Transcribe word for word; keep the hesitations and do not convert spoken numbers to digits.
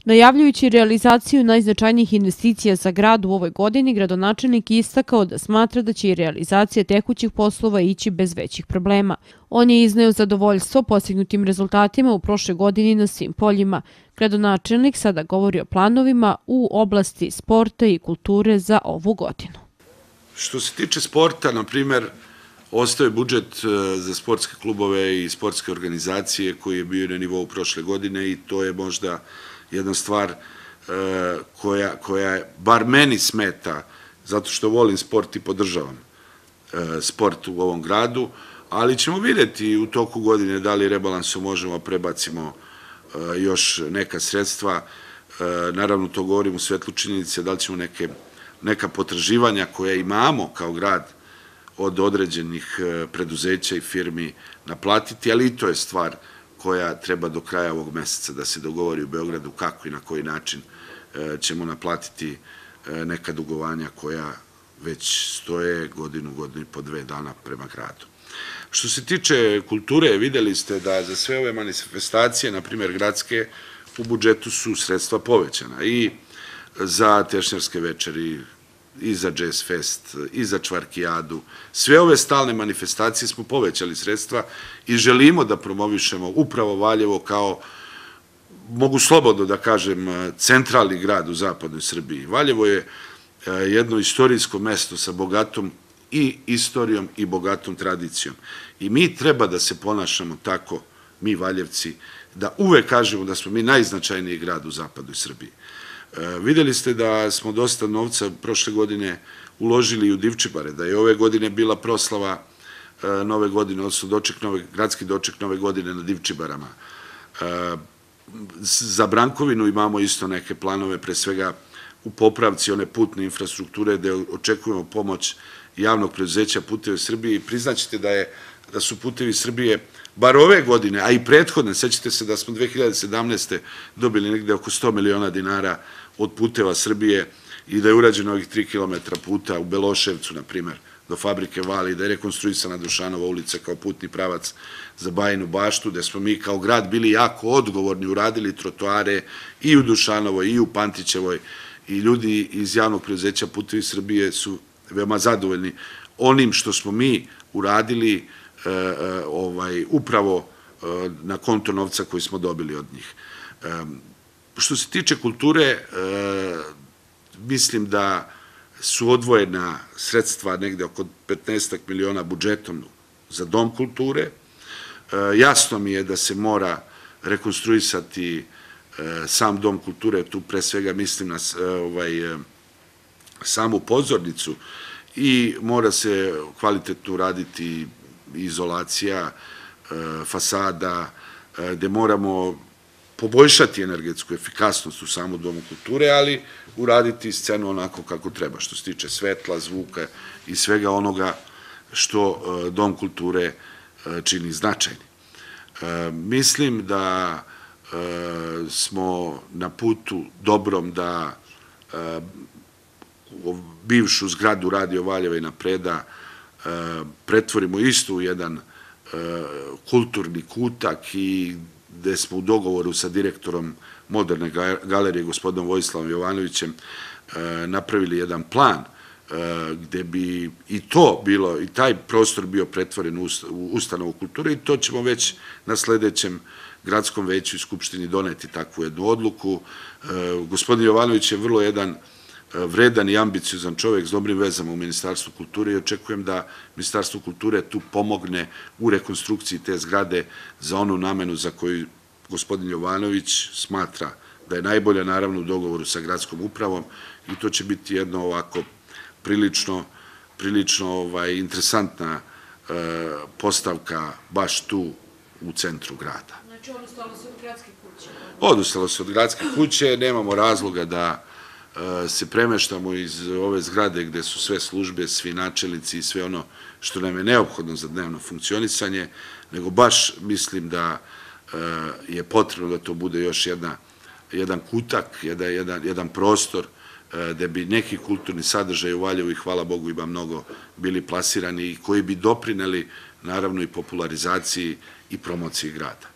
Najavljujući realizaciju najznačajnijih investicija za grad u ovoj godini, gradonačelnik je istakao da smatra da će i realizacija tekućih poslova ići bez većih problema. On je izneo zadovoljstvo postignutim rezultatima u prošle godini na svim poljima. Gradonačelnik sada govori o planovima u oblasti sporta i kulture za ovu godinu. Što se tiče sporta, na primjer, ostaje budžet za sportske klubove i sportske organizacije koji je bio na nivou prošle godine i to je možda jedna stvar koja, koja bar meni smeta, zato što volim sport i podržavam sport u ovom gradu, ali ćemo vidjeti u toku godine da li rebalansom možemo prebacimo još neka sredstva. Naravno, to govorim u svetlu činjenice, da li ćemo neke, neka potraživanja koje imamo kao grad od određenih preduzeća i firmi naplatiti, ali i to je stvar koja treba do kraja ovog meseca da se dogovori u Beogradu kako i na koji način ćemo naplatiti neka dugovanja koja već stoje godinu, godinu i po dve dana prema gradu. Što se tiče kulture, videli ste da za sve ove manifestacije, na primjer gradske, u budžetu su sredstva povećana i za tešnjarske večeri, i za Jazz Fest, i za Čvarkijadu. Sve ove stalne manifestacije smo povećali sredstva i želimo da promovišemo upravo Valjevo kao, mogu slobodno da kažem, centralni grad u zapadnoj Srbiji. Valjevo je jedno istorijsko mesto sa bogatom i istorijom i bogatom tradicijom. I mi treba da se ponašamo tako, mi Valjevci, da uvek kažemo da smo mi najznačajniji grad u zapadnoj Srbiji. Videli ste da smo dosta novca prošle godine uložili u Divčibare, da je ove godine bila proslava nove godine, odnosno doček nove, gradski doček nove godine na Divčibarama. Za Brankovinu imamo isto neke planove, pre svega u popravci one putne infrastrukture, gde očekujemo pomoć javnog preduzeća Putevi Srbije i priznaćete da, je, da su Putevi Srbije bar ove godine, a i prethodne, sećate se da smo dve hiljade sedamnaeste. dobili negde oko sto miliona dinara od Puteva Srbije i da je urađeno ovih tri kilometra puta u Beloševcu, na primer, do fabrike Vali, da je rekonstruisana Dušanova ulica kao putni pravac za Bajinu Baštu, gde smo mi kao grad bili jako odgovorni, uradili trotoare i u Dušanovoj i u Pantićevoj i ljudi iz javnog preduzeća Putevi Srbije su veoma zadovoljni onim što smo mi uradili ovaj, upravo na konto novca koji smo dobili od njih. Što se tiče kulture, mislim da su odvojena sredstva negde oko petnaestak miliona budžetom za Dom kulture. Jasno mi je da se mora rekonstruisati sam Dom kulture, tu pre svega mislim na ovaj, samu pozornicu i mora se kvalitetno uraditi izolacija, fasada, gde moramo poboljšati energetsku efikasnost u samu Domu kulture, ali uraditi scenu onako kako treba, što se tiče svetla, zvuka i svega onoga što Dom kulture čini značajni. Mislim da smo na putu dobrom da bivšu zgradu Radio Valjeva i Napreda pretvorimo isto u jedan kulturni kutak i gde smo u dogovoru sa direktorom Moderne galerije, gospodinom Vojislavom Jovanovićem, napravili jedan plan gde bi i to bilo, i taj prostor bio pretvoren u ustanovu kulture i to ćemo već na sledećem gradskom veću i skupštini doneti takvu jednu odluku. Gospodin Jovanović je vrlo jedan vredan i ambiciozan čovek s dobrim vezama u Ministarstvu kulture i očekujem da Ministarstvo kulture tu pomogne u rekonstrukciji te zgrade za onu namenu za koju gospodin Jovanović smatra da je najbolja, naravno u dogovoru sa gradskom upravom i to će biti jedno ovako prilično, prilično ovaj, interesantna e, postavka baš tu u centru grada. Znači, odustalo se od gradske kuće? Odustalo se od gradske kuće, nemamo razloga da se premeštamo iz ove zgrade gde su sve službe, svi načelnici i sve ono što nam je neophodno za dnevno funkcionisanje, nego baš mislim da je potrebno da to bude još jedna, jedan kutak, jedan, jedan, jedan prostor gde bi neki kulturni sadržaj u Valjevu i hvala Bogu ima mnogo bili plasirani i koji bi doprineli naravno i popularizaciji i promociji grada.